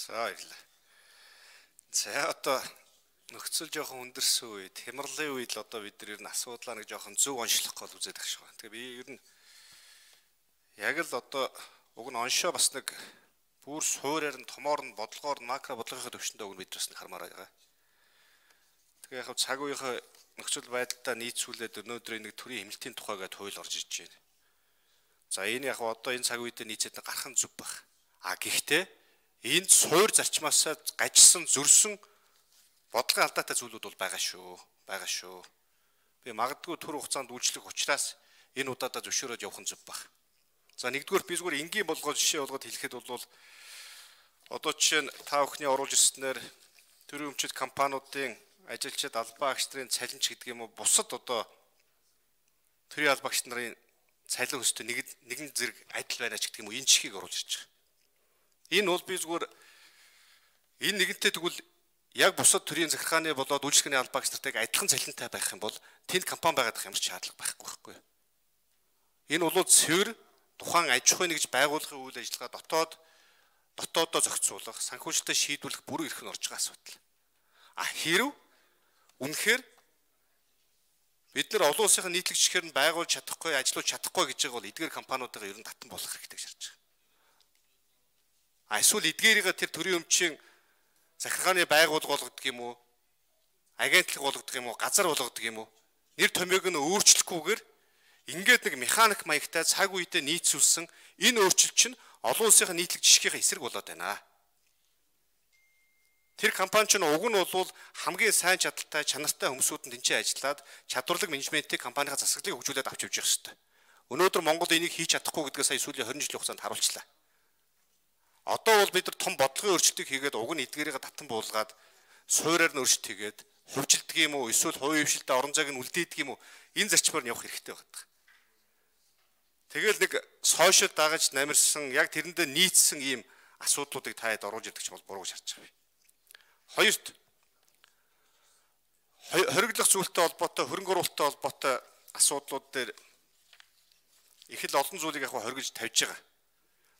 За баярлалаа. За одоо нөхцөл жоохон өндөрсөн үед, хямралын үед л одоо бид нар ер нь асуудлаа нэг жоохон зөв онцлох гол үзээд багш байна. Тэгээ би ер нь яг л одоо уг нь оншоо бас нэг бүр суурьаар нь томоор нь бодлогоор нь макро бодлогын төвшөндөө уг нь бид бас нэг хармаар байгаа. Тэгээ яг цаг үеийнхээ нөхцөл байдалтай нийцүүлээд өнөөдрийн нэг төрийн хэмнэлтийн тухай гэдэг хууль орж иж байна. За энэ яг одоо энэ цаг үедээ нийцээд гарах нь зүв байх. Гэхдээ энд суур зарчмаас гажсан зөрсөн бодлогын алдаатай зүйлүүд бол байгаа шүү. Би магадгүй түр хугацаанд үйлчлэх учраас энэ удаадаа зөвшөөрөөд явах нь зүв байх. За нэгдүгээр би зүгээр энгийн болгоод жишээ болгоод хэлэхэд бол одоо жишээ нь та бүхний оруулж ирснээр төрийн өмчит компаниудын ажилчид албан агч нарын цалинч гэдэг юм уу бусад одоо төрийн албан агч нарын цалин өсөлтөд нэгэн зэрэг адил байна ч гэдэг юм уу энэ чихийг оруулж ирж байгаа. Энэ бол би зүгээр энэ нэгэнтээ тэгвэл яг бусад төрийн захиргааны болоод үйлчлэгээний албан агч нартайг адилхан цалинтай байх юм бол тэнд компани байгаад ямар ч шаардлага байхгүй. Энэ бол цэвэр тухайн аж ахуйн нэгж байгууллагын үйл ажиллагаа дотооддоо зохицуулах, санхүүжилтөд шийдвэрлэх бүр эрх нь орж байгаа асуудал. Хэрв үнэхээр бид нар олон улсын нийтлэг жишгээр нь байгуулж чадахгүй, ажиллуулж чадахгүй гэж байгаа бол эдгээр компаниудаа ер нь татан болох хэрэгтэй гэж харж байгаа. Эсвэл эдгээрийг тэр төрийн өмчийн захиргааны байгууллага болгодог юм уу? Агентлаг болгодог юм уу? Газар болгодог юм уу? Нэр томьёог нь өөрчлөхгүйгээр ингээд нэг механик маягтай цаг үедээ нийцүүлсэн энэ өөрчлөлт чинь олон улсын нийтлэг жишгийнхээ эсрэг болоод байна. Тэр компани чинь уг нь бол хамгийн сайн чадaltaй, чанартай хүмүүсүүд нь тэнцээ ажиллаад чадварлаг менежментийн компанийн засаглалыг хөгжүүлээд авч явж байгаа хэрэгтэй. Өнөөдөр Монгол энийг хийж чадахгүй гэдгээ сая сүүлийн 20 жилийн хугацаанд харуулчлаа. Одоо бол бид нар том бодлогын өөрчлөлтийг хийгээд уг нь эдгээрийг татан буулгаад суурьаар нь өөрчлөлт хийгээд хувьчилдаг юм уу, эсвэл хувийн хвшилтэд орон зайг нь үлдээдэг юм уу? Энэ зарчмаар нь явах хэрэгтэй байна. Тэгэл нэг сошиал дагаж намирсан яг тэрэндээ нийцсэн ийм асуудлуудыг та хэд оруулж ирдэг ч бол буруу гэж харж байгаа. Хоёрт хориглох зүйлтэй холбоотой, хөрөнгө оруулалттай холбоотой асуудлууд дээр их л олон зүйлийг яг хоригж тавьж байгаа.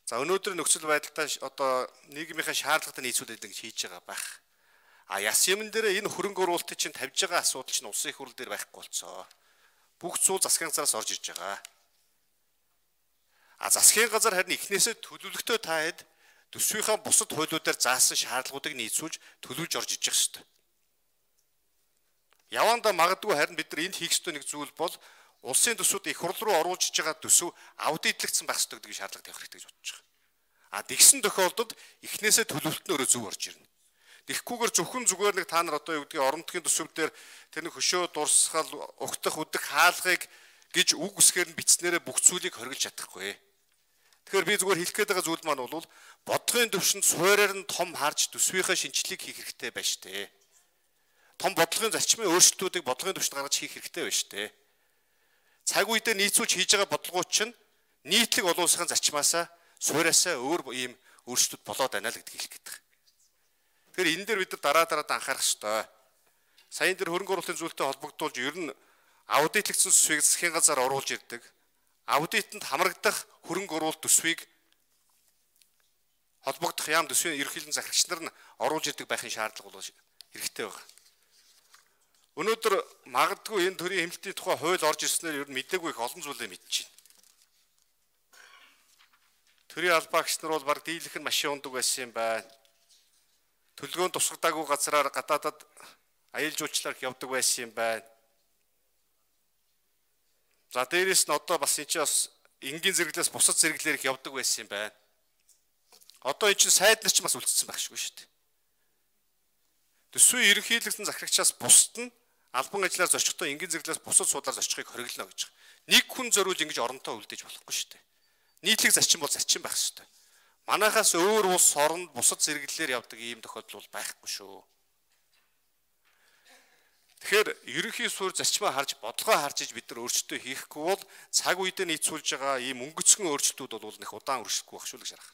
За өнөөдөр нөхцөл байдалтай одоо нийгмийнхээ шаардлагатай нийцүүлээд ингэж хийж байгаа байх. Яс юмн дээр энэ хөрөнгө оруулалтыг чинь тавьж байгаа асуудал чинь улсын их хурл дээр байхгүй болцоо. Бүх зүйл засгийн газараас орж ирж байгаа. Засгийн газар харин эхнээсээ төлөвлөгтөө таад төсвийнхаа бусад хуулиудаар заасан шаардлагуудыг нийцүүлж төлөвлөж орж иж явах ёстой. Явандаа магадгүй харин бид нар энд хийх ёстой нэг зүйл бол улсын төсвүүд их хурл руу оруулж иж байгаа төсөв аудитлэгдсэн байх ёстой гэдэг шаардлага тавих хэрэгтэй гэж бодож байгаа. Тэгсэн тохиолдолд эхнээсээ төлөвлөлт нь өөрөө зөв орж ирнэ. Тэгэхгүйгээр зөвхөн зүгээр нэг та нар одоо юу гэдгийг орон нутгийн төсвүүдээр тэр нэг хөшөө дурсгал, угтах, үдэх хаалгыг гэж үг үсгээр нь бичснээрээ бүх зүйлийг хоригдж чадахгүй. Тэгэхээр би зүгээр хэлэх гээд байгаа зүйл маань бол бодлогын төвшөнд суурьаар нь том харж төсвийнхээ шинжилгээг хийх хэрэгтэй байна шүү дээ. Том бодлогын зарчмын өөрчлөлтүүдийг бодлогын төвшөнд гаргаж хийх хэрэгтэй байна шүү дээ. Цаг үедээ нийцүүлж хийж байгаа бодлогууд чинь нийтлэг олон улсын зарчмаасаа суурьаасаа өөр ийм өөрчлөлтүүд болоод байна л гэдгийг хэлэх гээд. Тэгэхээр энэ дээр бид нар дараад анхаарах ёстой. Саяын дээр хөрөнгө оруулалтын зүйлтэй холбогдуулж ер нь аудитлэгдсэн төсвийг засгийн газар оруулж ирдэг. Аудитэнд хамрагдах хөрөнгө оруулалт төсвийг холбогдох яам төсвийн ерөнхийлөн захирагч нар нь оруулж ирдэг байхын шаардлага бол хэрэгтэй байна. Өнөөдөр магадгүй энэ төрлийн хэмнэлтийн тухай хууль орж ирснээр ер нь мэдээгүй их олон зүйлээ мэдчихэв. Төрийн албан агч нар бол баг дийлэх нь машин ундаг байсан юм байна. Төлгөөнд тусгадаагүй газраар гадаадад аялал жуулчлалаар явдаг байсан юм байна. За дээрээс нь одоо бас энэ чинь бас энгийн зэрэглээс бусад зэрэглээр их явдаг байсан юм байна. Одоо энэ чинь сайд нар ч бас үлдсэн байхгүй шүү дээ. Төсвийн ерөнхийлөгчдийн захирагчаас бусад нь албан ажиллаар зорчихтой энгийн зэрэглээс бусад суудлаар зорчихыг хориглоно гэж байгаа. Нэг хүн зориулж ингэж оронтой үлдээж болохгүй шүү дээ. Нийтлэг зарчим бол зарчим байх ёстой. Манайхаас өөр улс оронд бусад зэрэглэлээр явдаг ийм тохиолдол бол байхгүй шүү. Тэгэхээр ерөнхий суурь зарчмаа харж бодлогоо харж иж бид нар өөрчлөлтөө хийхгүй бол цаг үедээ нийцүүлж байгаа ийм өнгөцгөн өөрчлөлтүүд бол нэг удаан үргэлжлэхгүй байх шүү л гэж харах.